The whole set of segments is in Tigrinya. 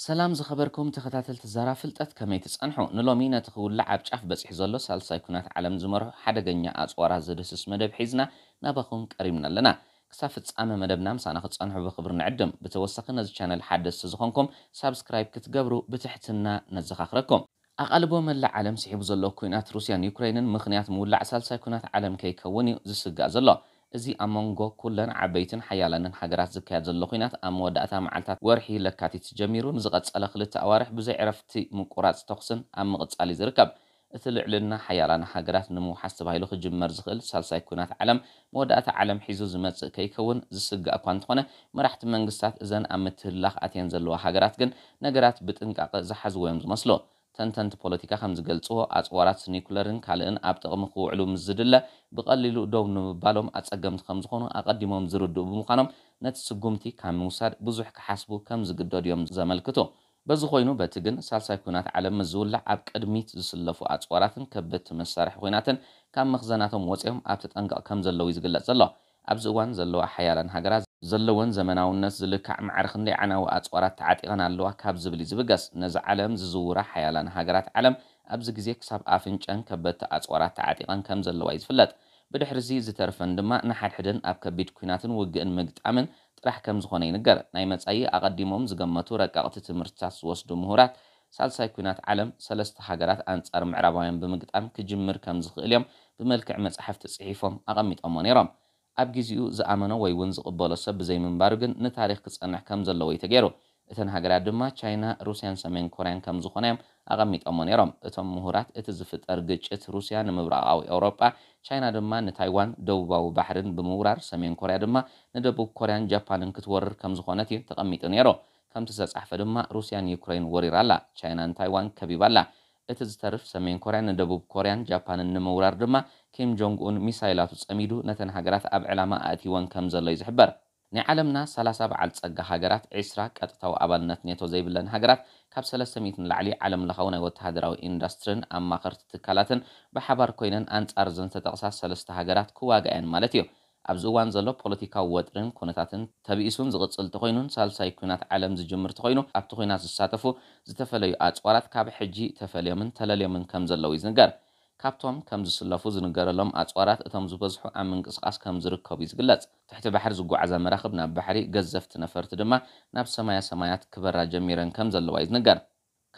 ሰላም ዝኸበርኩም ተኸታተልቲ ዛራ ፍልጠት፣ ከመይ ትጸንሑ? ንሎሚ ነቲ ክውላዕ ኣብ ጫፍ በጺሑ ዘሎ ሳልሳይ ኩናት ዓለም ዝመርሑ ሓደገኛ ኣጽዋራት ዝድህስስ መደብ ሒዝና ናባኹም ቀሪብና ኣለና። ክሳብ ፍጻመ መደብና ምሳና ክትጸንሑ ብኽብሪ ንዕድም። ብተወሳኺ ነዚ ቻነል ሓደስቲ ዝኾንኩም ሳብስክራይብ ክትገብሩ ብትሕትና ነዘኻኽረኩም። ኣቓልቦ መላእ ዓለም ስሒቡ ዘሎ ኩናት ሩስያን ዩክሬንን ምኽንያት ምውላዕ ሳልሳይ ኩናት ዓለም ከይከውን እዩ ዝስጋእ ዘሎ። እዚ ኣብ መንጎ ኩለን ዓበይትን ሓያላንን ሃገራት ዝካየድ ዘሎ ኩናት ኣብ መወዳእታ መዓልታት ወርሒ ለካቲት ጀሚሩ ንዝቐጸለ ክልተ ኣዋርሕ ብዘይ ዕረፍቲ ምቁራጽ ተኹስን ኣብ ምቕጻል እዩ ዝርከብ። እቲ ልዕልና ሓያላን ሃገራት ንምውሓስ ተባሂሉ ክጅመር ዝኽእል ሳልሳይ ኩናት ዓለም መወዳእታ ዓለም ሒዙ ዝመጽእ ከይከውን ዝስጋእ እኳ እንተኾነ፣ መራሕቲ መንግስታት እዘን ኣብ ምትህልላኽ ኣትየን ዘለዋ ሃገራት ግን ነገራት ብጥንቃቐ ዝሓዝዎ እዮም ዝመስሉ። ተንተንቲ ፖለቲካ ከም ዝገልጽዎ፣ ኣጽዋራት ኒኩለርን ካልእን ኣብ ጥቕሚ ክውዕሉ ምስ ዝድለ፣ ብቐሊሉ ደው ንምባሎም ኣጸገምቲ ከም ዝኾኑ ኣቐዲሞም ዝርድኡ ብምዃኖም፣ ነቲ ስጉምቲ ካብ ምውሳድ ብዙሕ ክሓስቡ ከም ዝግደዱ እዮም ዘመልክቱ። በዚ ኮይኑ፣ በቲ ግን ሳልሳይ ኩናት ዓለም ምስ ዝውላዕ ኣብ ቅድሚት ዝስለፉ ኣጽዋራትን ከበድቲ መሳርሒ ኩናትን ካብ መኽዘናቶም ወጺኦም ኣብ ተጠንቀቕ ከም ዘለዉ እዩ ዝግለጽ ዘሎ። ኣብዚ እዋን ዘለዋ ሓያላን ሃገራት ዘለወን ዘመናውነት ዝልካዕ ማዕረ ክንደይ ዓናዊ ኣጽዋራት ተዓጢቐን ኣለዋ ካብ ዝብል እዩ ዝብገስ። ነዚ ዓለም ዝዝውራ ሓያላን ሃገራት ዓለም ኣብዚ ግዜ ክሳብ ኣፍንጨን ከበድቲ ኣጽዋራት ተዓጢቐን ከም ዘለዋ እዩ ዝፍለጥ። ብድሕሪ እዚ ዝተርፈን ድማ ንሓድሕደን ኣብ ከቢድ ኲናትን ውግእን ምግጣምን ጥራሕ ከም ዝኾነ ይንገር። ናይ መጻኢ ኣቐዲሞም ዝገመቱ ረቀቕቲ ትምህርትታት ዝወስዱ ምሁራት፣ ሳልሳይ ኲናት ዓለም ሰለስተ ሃገራት ኣንጻር ምዕራባውያን ብምግጣም ክጅምር ከም ዝኽእል እዮም ብመልክዕ መጻሕፍቲ ጽሒፎም ኣቐሚጦሞ ነይሮም። ኣብ ግዜኡ ዝኣመኖ ወይ እውን ዝቕበሎ ሰብ ብዘይምንባሩ ግን ንታሪኽ ክጸንሕ ከም ዘለዎ እዩ ተገይሩ። እተን ሃገራት ድማ ቻይና፣ ሩስያን ሰሜን ኮርያን ከም ዝኾና እዮም ኣቐሚጦሞ ነይሮም። እቶም ምሁራት፣ እቲ ዝፍጠር ግጭት ሩስያ ንምብራቓዊ ኤውሮጳ፣ ቻይና ድማ ንታይዋን ደቡባዊ ባሕርን ብምውራር፣ ሰሜን ኮርያ ድማ ንደቡብ ኮርያን ጃፓንን ክትወርር ከም ዝኾነት እዩ ተቐሚጡ ነይሩ። ከምቲ ዝተጻሕፈ ድማ፣ ሩስያ ንዩክሬን ወሪራ ኣላ፣ ቻይና ንታይዋን ከቢባ ኣላ። እቲ ዝተርፍ ሰሜን ኮርያ ንደቡብ ኮርያን ጃፓንን ንምውራር ድማ፣ ኪም ጆንግ ኡን ሚሳይላቱ ጸሚዱ ነተን ሃገራት ኣብ ዕላማ ኣእትይወን ከም ዘሎ እዩ ዝሕበር። ናይ ዓለምና ሰላሳ በዓል ጸጋ ሃገራት፣ ዕስራ ቀጥታዊ ኣባልነት ኔቶ ዘይብለን ሃገራት፣ ካብ ሰለስተ ሚእቲ ንላዕሊ ዓለም ለኻዊ ናይ ወተሃደራዊ ኢንዱስትሪን ኣማኸርቲ ትካላትን ብሓባር ኮይነን ኣንጻር እዘን ዝተጠቕሳ ሰለስተ ሃገራት ክዋግኣየን ማለት እዩ። ኣብዚ እዋን ዘሎ ፖለቲካዊ ወጥርን ኩነታትን ተብኢሱን ዝቕጽል ተኾይኑን ሳልሳይ ኲናት ዓለም ዝጅምር ተኾይኑ፣ ኣብቲ ኲናት ዝሳተፉ ዝተፈለዩ ኣጽዋራት ካብ ሕጂ ተፈልዮምን ተለልዮምን ከም ዘለዉ ይዝንገር። ካብቶም ከም ዝስለፉ ዝንገረሎም ኣጽዋራት እቶም ዝበዝሑ ኣብ ምንቅስቓስ ከም ዝርከቡ እዩ ዝግለጽ። ትሕቲ ባሕሪ ዝጓዓዛ መራኽብ ናብ ባሕሪ፣ ገዘፍቲ ነፈርቲ ድማ ናብ ሰማያ ሰማያት ክበራ ጀሚረን ከም ዘለዋ እዩ ዝንገር።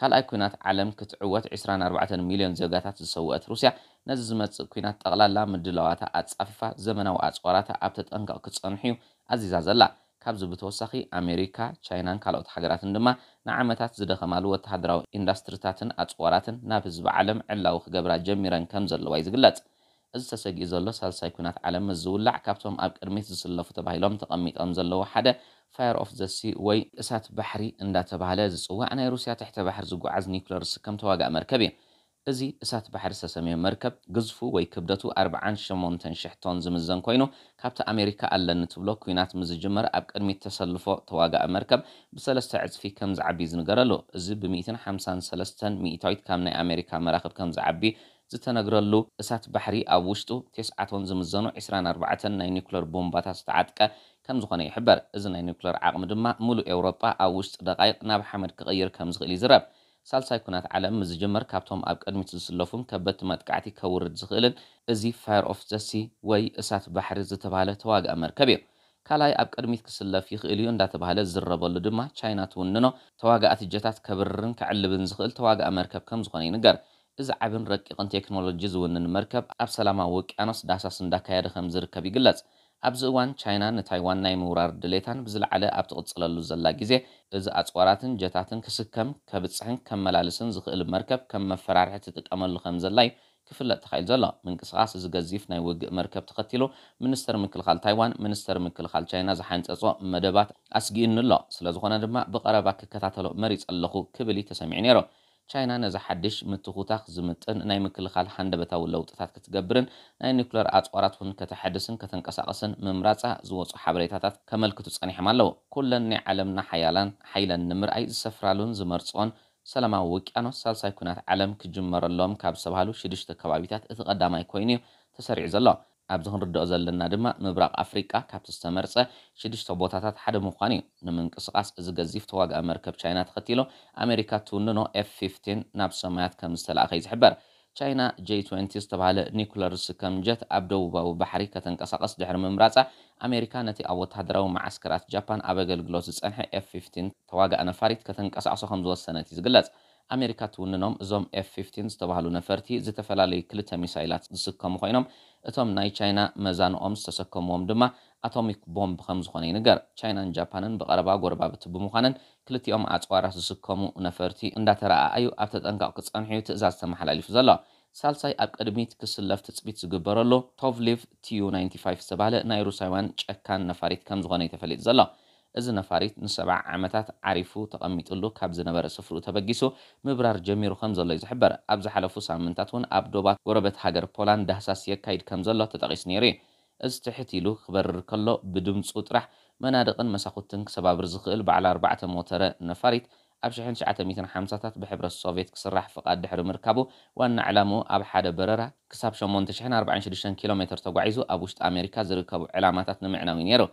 ካልኣይ ኲናት ዓለም ክትዕወት ዕስራን ኣርባዕተን ሚልዮን ዜጋታት ዝሰወአት ሩስያ፣ ነዚ ዝመጽእ ኲናት ጠቕላላ ምድላዋታ ኣጻፊፋ፣ ዘመናዊ ኣጽዋራታ ኣብ ተጠንቀቕ ክጸንሑ እዩ ኣዚዛ ዘላ። ካብዚ ብተወሳኺ፣ ኣሜሪካ፣ ቻይናን ካልኦት ሃገራትን ድማ ንዓመታት ዝደኸማሉ ወተሃደራዊ ኢንዱስትሪታትን ኣጽዋራትን ናብ ህዝቢ ዓለም ዕላዊ ክገብራ ጀሚረን ከም ዘለዋ እዩ ዝግለጽ። እዚ ተሰጊኡ ዘሎ ሳልሳይ ኲናት ዓለም ምስ ዝውላዕ፣ ካብቶም ኣብ ቅድሚት ዝስለፉ ተባሂሎም ተቐሚጦም ዘለዉ ሓደ፣ ፋየር ኦፍ ዘ ሲ ወይ እሳት ባሕሪ እንዳተባህለ ዝጽዋዕ ናይ ሩስያ ትሕተ ባሕሪ ዝጓዓዝ ኒውክለር ዝስከም ተዋጋኢ መርከብ እዩ። እዚ እሳት ባሕሪ ዝተሰመየ መርከብ፣ ግዝፉ ወይ ክብደቱ ኣርባዓን ሸሞንተን ሽሕ ቶን ዝምዘን ኮይኑ፣ ካብቲ ኣሜሪካ ኣለኒ ትብሎ ኲናት ምስ ዝጅመር ኣብ ቅድሚት ተሰልፎ ተዋጋኢ መርከብ ብሰለስተ ዕጽፊ ከም ዝዓቢ ዝንገረሉ። እዚ ብሚእትን ሓምሳን ሰለስተን ሚእታዊት ካብ ናይ ኣሜሪካ መራኽብ ከም ዝዓቢ ዝተነግረሉ እሳት ባሕሪ፣ ኣብ ውሽጡ ቴስዓ ቶን ዝምዘኑ ዕስራን ኣርባዕተን ናይ ኒውክለር ቦምባታት ዝተዓጥቀ ከም ዝኾነ ይሕበር። እዚ ናይ ኒውክለር ዓቕሚ ድማ፣ ምሉእ ኤውሮጳ ኣብ ውሽጢ ደቓይቕ ናብ ሓመድ ክቕይር ከም ዝኽእል ይዝረብ። ሳልሳይ ኲናት ዓለም ምስ ዝጅመር፣ ካብቶም ኣብ ቅድሚት ዝስለፉን ከበድቲ መጥቃዕቲ ከውርድ ዝኽእልን እዚ ፋየር ኦፍ ዘ ሲ ወይ እሳት ባሕሪ ዝተባህለ ተዋጋኢ መርከብ እዩ። ካልኣይ ኣብ ቅድሚት ክስለፍ ይኽእል እዩ እንዳተባህለ ዝዝረበሉ ድማ፣ ቻይና ትውንኖ ተዋጋእቲ ጀታት ከብርርን ከዕልብን ዝኽእል ተዋጋኢ መርከብ ከም ዝኾነ ይንገር። እዚ ዓብን ረቂቕን ቴክኖሎጂ ዝውንን መርከብ፣ ኣብ ሰላማዊ ውቅያኖስ ዳህሳስ እንዳካየደ ከም ዝርከብ ይግለጽ። ኣብዚ እዋን፣ ቻይና ንታይዋን ናይ ምውራር ድሌታን ብዝለዓለ ኣብ ትቕጽለሉ ዘላ ግዜ፣ እዚ ኣጽዋራትን ጀታትን ክስከም፣ ከብጽሕን ከመላልስን ዝኽእል መርከብ ከም መፈራርሒ ትጥቀመሉ ከም ዘላ እዩ ክፍለጥ ተኻኢሉ ዘሎ። ምንቅስቓስ እዚ ገዚፍ ናይ ውግእ መርከብ ተኸቲሉ፣ ሚኒስተር ምክልኻል ታይዋን፣ ሚኒስተር ምክልኻል ቻይና ዝሓንጸጾ መደባት ኣስጊኡኒ ኣሎ። ስለ ዝኾነ ድማ፣ ብቐረባ ክከታተሎ መሪጸ ኣለኹ ክብል እዩ ተሰሚዑ ነይሩ። ቻይና ነዚ ሓድሽ ምትኹታኽ ዝምጥን ናይ ምክልኻል ሃንደበታዊ ለውጥታት ክትገብርን ናይ ኒኩለር ኣጽዋራት እውን ከተሐድስን ከተንቀሳቕስን ምምራጻ ዝወጹ ሓበሬታታት ከመልክቱ ጸኒሖም ኣለዉ። ኩለን ናይ ዓለምና ሓያላን ሓይለን ንምርኣይ ዝሰፍራሉን ዝመርጽኦን ሰላማዊ ውቅያኖስ፣ ሳልሳይ ኲናት ዓለም ክጅመረሎም ካብ ዝተባህሉ ሽዱሽተ ከባቢታት እቲ ቀዳማይ ኮይኑ እዩ ተሰሪዑ ዘሎ። ኣብዚ ክንርድኦ ዘለና ድማ ምብራቕ ኣፍሪቃ ካብቲ ዝተመርጸ ሽዱሽተ ቦታታት ሓደ ምዃኑ እዩ። ንምንቅስቓስ እዚ ገዚፍ ተዋጋኢ መርከብ ቻይና ተኸቲሉ ኣሜሪካ ትውንኖ ኤፍ ፊፍቲን ናብ ሰማያት ከም ዝተላእኸ እዩ ዝሕበር። ቻይና ጄ ትወንቲ ዝተባህለ ኒኩለር ዝስከም ጀት ኣብ ደቡባዊ ባሕሪ ከተንቀሳቐስ ድሕሪ ምምራጻ ኣሜሪካ ነቲ ኣብ ወታደራዊ መዓስከራት ጃፓን ኣብ ኣገልግሎት ዝጸንሐ ኤፍ ፊፍቲን ተዋጋኢ ነፋሪት ከተንቀሳቕሶ ከም ዝወሰነት እዩ ዝግለጽ። ኣሜሪካ ትውንኖም እዞም ኤፍ ፊፍቲን ዝተባህሉ ነፈርቲ ዝተፈላለዩ ክልተ ሚሳይላት ዝስከሙ ኮይኖም እቶም ናይ ቻይና መዛንኦም ዝተሰከምዎም ድማ ኣቶሚክ ቦምብ ከም ዝኾነ ይንገር። ቻይናን ጃፓንን ብቐረባ ጎረባብቲ ብምዃነን ክልቲኦም ኣጽዋራት ዝስከሙ ነፈርቲ እንዳተረኣኣዩ ኣብ ተጠንቀቕ ክጸንሑ እዩ ትእዛዝ ተመሓላሊፉ ዘሎ። ሳልሳይ ኣብ ቅድሚት ክስለፍ ትጽቢት ዝግበረሉ ቶቭሊቭ ቲዩ ናይንቲ ፋይቭ ዝተባህለ ናይ ሩሳውያን ጨካን ነፋሪት ከም ዝኾነ እዩ ተፈሊጡ ዘሎ። እዚ ነፋሪት ንሰብዓ ዓመታት ዓሪፉ ተቐሚጥሉ ካብ ዝነበረ ስፍርኡ ተበጊሱ ምብራር ጀሚሩ ከም ዘሎ እዩ ዝሕበር። ኣብ ዝሓለፉ ሳምንታት እውን ኣብ ዶባት ጎረበት ሃገር ፖላንድ ዳህሳስ የካይድ ከም ዘሎ ተጠቒሱ ነይሩ እዩ። እዚ ትሕት ኢሉ ክበርር ከሎ ብድምፁ ጥራሕ መናድቕን መሳኹትን ክሰባብር ዝኽእል በዓል ኣርባዕተ ሞተረ ነፋሪት ኣብ ሽሕን ትሽዓተ ሚእትን ሓምሳታት ብሕብረት ሶቭየት ክስራሕ ፍቓድ ድሕሪ ምርካቡ ዋና ዕላምኡ ኣብ ሓደ በረራ ክሳብ ሸሞንተ ሽሕን ኣርባዓን ሽዱሽተን ኪሎ ሜትር ተጓዒዙ ኣብ ውሽጢ ኣሜሪካ ዝርከቡ ዕላማታት ንምዕናው እዩ ነይሩ።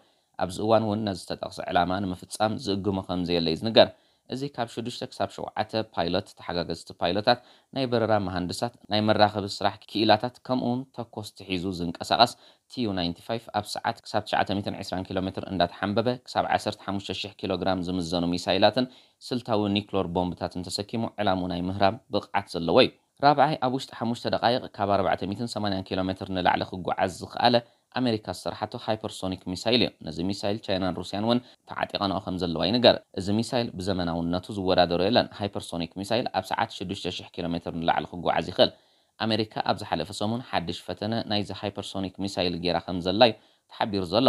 ኣብዚ እዋን እውን ነዚ ዝተጠቕሰ ዕላማ ንምፍጻም ዝእግሞ ከም ዘየለ እዩ ዝንገር። እዚ ካብ ሽዱሽተ ክሳብ ሸውዓተ ፓይሎት፣ ተሓጋገዝቲ ፓይሎታት፣ ናይ በረራ መሃንድሳት፣ ናይ መራኸቢ ስራሕ ክኢላታት ከምኡ እውን ተኮስቲ ሒዙ ዝንቀሳቐስ ቲዩ ናይንቲ ፋይቭ ኣብ ሰዓት ክሳብ ትሽዓተ ሚእትን ዕስራን ኪሎ ሜትር እንዳተሓንበበ ክሳብ ዓሰርተ ሓሙሽተ ሽሕ ኪሎ ግራም ዝምዘኑ ሚሳይላትን ስልታዊ ኒክሎር ቦምብታትን ተሰኪሙ ዕላሙ ናይ ምህራም ብቕዓት ዘለዎ እዩ። ራብዓይ ኣብ ውሽጢ ሓሙሽተ ደቓይቕ ካብ ኣርባዕተ ሚእትን ሰማንያን ኪሎ ሜትር ንላዕሊ ክጓዓዝ ዝኽኣለ ኣሜሪካ ዝሰርሓቶ ሃይፐርሶኒክ ሚሳይል እዩ። ነዚ ሚሳይል ቻይናን ሩስያን እውን ተዓጢቐንኦ ከም ዘለዋ ይንገር። እዚ ሚሳይል ብዘመናውነቱ ዝወዳደሮ የለን። ሃይፐርሶኒክ ሚሳይል ኣብ ሰዓት ሽዱሽተ ሽሕ ኪሎ ሜትር ንላዕሊ ክጓዓዝ ይኽእል። ኣሜሪካ ኣብ ዝሓለፈ ሰሙን ሓድሽ ፈተነ ናይዚ ሃይፐርሶኒክ ሚሳይል ጌራ ከም ዘላ እዩ ተሓቢሩ ዘሎ።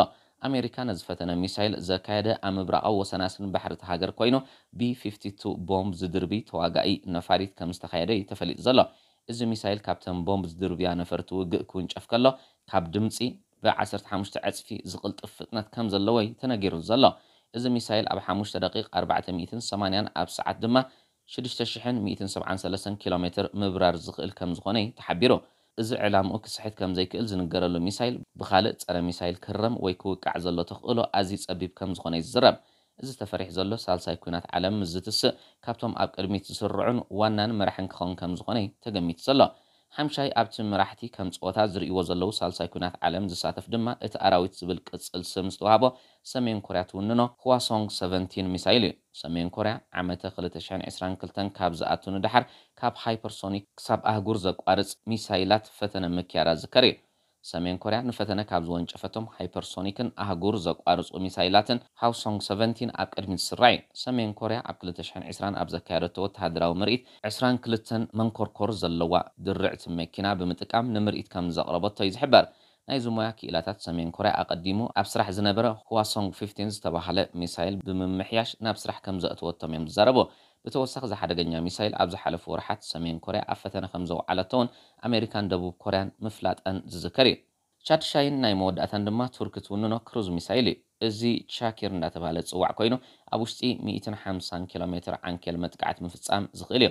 ኣሜሪካ ነዚ ፈተነ ሚሳይል ዘካየደ ኣብ ምብራቓዊ ወሰናስን ባሕሪ እታ ሃገር ኮይኑ ቢ ፊፍቲ ቱ ቦምብ ዝድርቢ ተዋጋኢ ነፋሪት ከም ዝተኻየደ እዩ ተፈሊጡ ዘሎ። እዚ ሚሳይል ካብተን ቦምብ ዝድርብያ ነፈርቲ ውግእ ክውንጨፍ ከሎ ካብ ድምፂ ብ ዓሰርተ ሓሙሽተ ዕፅፊ ዝቕልጥፍ ፍጥነት ከም ዘለዎ እዩ ተነጊሩ ዘሎ። እዚ ሚሳይል ኣብ ሓሙሽተ ደቂቕ ኣርባዕተ ሚእትን ሰማንያን ኣብ ሰዓት ድማ ሽዱሽተ ሽሕን ሚእትን ሰብዓን ሰለስተን ኪሎ ሜትር ምብራር ዝኽእል ከም ዝኾነ እዩ ተሓቢሩ። እዚ ዕላምኡ ክስሕት ከም ዘይክእል ዝንገረሉ ሚሳይል ብኻልእ ጸረ ሚሳይል ክህረም ወይ ክውቃዕ ዘሎ ተኽእሎ ኣዝዩ ጸቢብ ከም ዝኾነ እዩ ዝዝረብ። እዚ ተፈሪሑ ዘሎ ሳልሳይ ኲናት ዓለም ምስ ዝትስእ ካብቶም ኣብ ቅድሚት ዝስርዑን ዋናን መራሕን ክኸውን ከም ዝኾነ እዩ ተገሚቱ ዘሎ። ሓምሻይ ኣብቲ መራሕቲ ከም ጸወታ ዝርእይዎ ዘለዉ ሳልሳይ ኲናት ዓለም ዝሳተፍ ድማ እቲ ኣራዊት ዝብል ቅጽል ስም ዝተዋህቦ ሰሜን ኮርያ ትውንኖ ህዋሶንግ ሰቨንቲን ሚሳይል እዩ። ሰሜን ኮርያ ዓመተ ክልተ ሽሕን ዕስራን ክልተን ካብ ዝኣቱ ንደሓር ካብ ሃይፐርሶኒክ ክሳብ ኣህጉር ዘቋርጽ ሚሳይላት ፈተነ ምክያዳ ዝከር እዩ። ሰሜን ኮርያ ንፈተነ ካብ ዝወንጨፈቶም ሃይፐርሶኒክን ኣህጉር ዘቋርጹ ሚሳይላትን ሃውሶንግ ሰቨንቲን ኣብ ቅድሚት ዝስራዕ እዩ። ሰሜን ኮርያ ኣብ ክልተ ሽሕን ዕስራን ኣብ ዘካየደቶ ወተሃደራዊ ምርኢት ዕስራን ክልተን መንኮርኮር ዘለዋ ድርዕቲ መኪና ብምጥቃም ንምርኢት ከም ዘቕረበቶ እዩ ዝሕበር። ናይዚ ሞያ ክኢላታት ሰሜን ኮርያ ኣቐዲሙ ኣብ ስራሕ ዝነበረ ህዋሶንግ ፊፍቲን ዝተባህለ ሚሳይል ብምምሕያሽ ናብ ስራሕ ከም ዘእተወቶም እዮም ዝዛረቡ። ብተወሳኺ እዚ ሓደገኛ ሚሳይል ኣብ ዝሓለፉ ወርሓት ሰሜን ኮርያ ኣብ ፈተነ ከም ዘውዓለቶ እውን ኣሜሪካን ደቡብ ኮርያን ምፍላጠን ዝዝከር እዩ። ቻድሻይን ናይ መወዳእታን ድማ ቱርኪ ትውንኖ ክሩዝ ሚሳይል እዩ። እዚ ቻኪር እንዳተባህለ ዝጽዋዕ ኮይኑ ኣብ ውሽጢ ሚእትን ሓምሳን ኪሎ ሜትር ዓንኬል መጥቃዕቲ ምፍጻም ዝኽእል እዩ።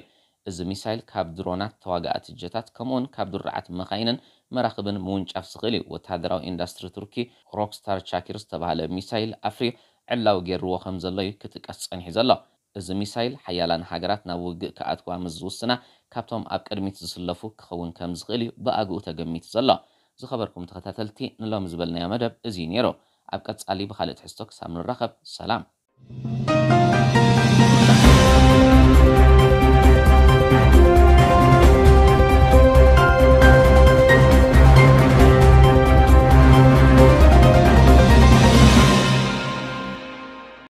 እዚ ሚሳይል ካብ ድሮናት፣ ተዋጋእቲ ጀታት ከምኡውን ካብ ድሩዓት መኻይንን መራኽብን ምውንጫፍ ዝኽእል እዩ። ወተሃደራዊ ኢንዳስትሪ ቱርኪ ሮክስታር ቻኪር ዝተባህለ ሚሳይል ኣፍርዩ ዕላዊ ገይርዎ ከም ዘሎ እዩ ክጥቀስ ጸኒሑ ዘሎ። እዚ ሚሳይል ሓያላን ሃገራት ናብ ውግእ ክኣትዋ ምስ ዝውስና ካብቶም ኣብ ቅድሚት ዝስለፉ ክኸውን ከም ዝኽእል እዩ ብኣግኡ ተገሚቱ ዘሎ። ዝኸበርኩም ተኸታተልቲ ንሎሚ ዝበልናዮ መደብ እዚ እዩ ነይሩ። ኣብ ቀጻሊ ብኻልእ ትሕዝቶ ክሳብ ንራኸብ ሰላም።